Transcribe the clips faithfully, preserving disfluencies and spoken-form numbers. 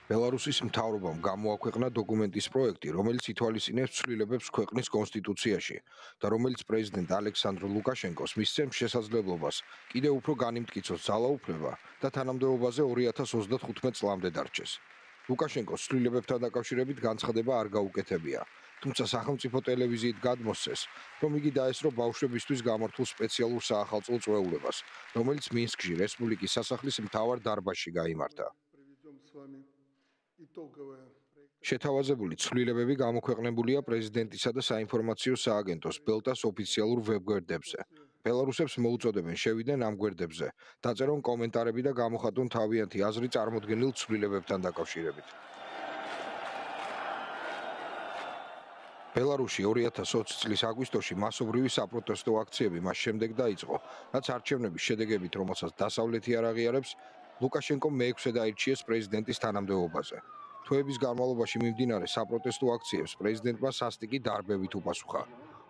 ბელარუსის მთავრობამ გამოაქვეყნა დოკუმენტის პროექტი, რომელიც ითვალისწინებს ცვლილებებს ქვეყნის კონსტიტუციაში და რომელიც პრეზიდენტ ალექსანდრ ლუკაშენკოს მისცემს შესაძლებლობას კიდევ უფრო განიმტკიცოს ძალაუფლება და თანამდებობაზე ორი ათას ოცდახუთმეტ წლამდე დარჩეს. ლუკაშენკოს ცვლილებებთან დაკავშირებით განცხადება არ გაუკეთებია, თუმცა სახელმწიფო ტელევიზიით გადმოსცეს, რომ იგი დაესწრო ბავშვებისთვის გამართულ სპეციალურ საახალწლო წვეულებას, რომელიც მინსკში რესპუბლიკის სასახლის მთავარ დარბაზში გაიმართა. შეთავაზებული ცვლილებები გამოქვეყნებულია პრეზიდენტისა და საინფორმაციო სააგენტოს ბელტას ოფიციალურ ვებგვერდებზე. ბელარუსებს მოუწოდებენ შევიდნენ ამ გვერდებზე, დაწერონ კომენტარები და გამოხატონ თავიანთი აზრი წარმოდგენილ ცვლილებებთან დაკავშირებით. ბელარუსში ორი ათას ოცი წლის აგვისტოში მასობრივი საპროტესტო აქციები მას შემდეგ დაიწყო, რაც არჩევნების შედეგებით, რომელსაც დასავლეთი არ აღიარებს, ლუკაშენკომ მეექვსე დაირჩიეს პრეზიდენტის თანამდებობაზე. თვეების განმავლობაში მიმდინარე საპროტესტო აქციებს პრეზიდენტმა სასტიკი დარბევით უპასუხა.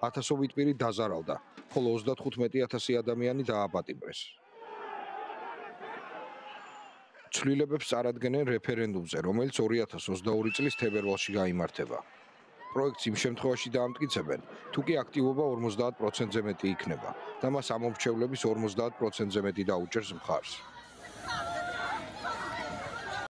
ათასობით პირი დაზარალდა, ხოლო ოცდახუთმეტი ათასი ადამიანი დააპატიმრეს. ცვლილებებს წარადგენენ რეფერენდუმზე, რომელიც ორი ათას ოცდაორი წლის თებერვალში გაიმართება. პროექტს იმ შემთხვევაში დაამტკიცებენ, თუ კი აქტივობა ორმოცდაათ პროცენტზე მეტი იქნება და მას ამომრჩევლების ორმოცდაათ პროცენტზე მეტი დაუჭერს მხარს.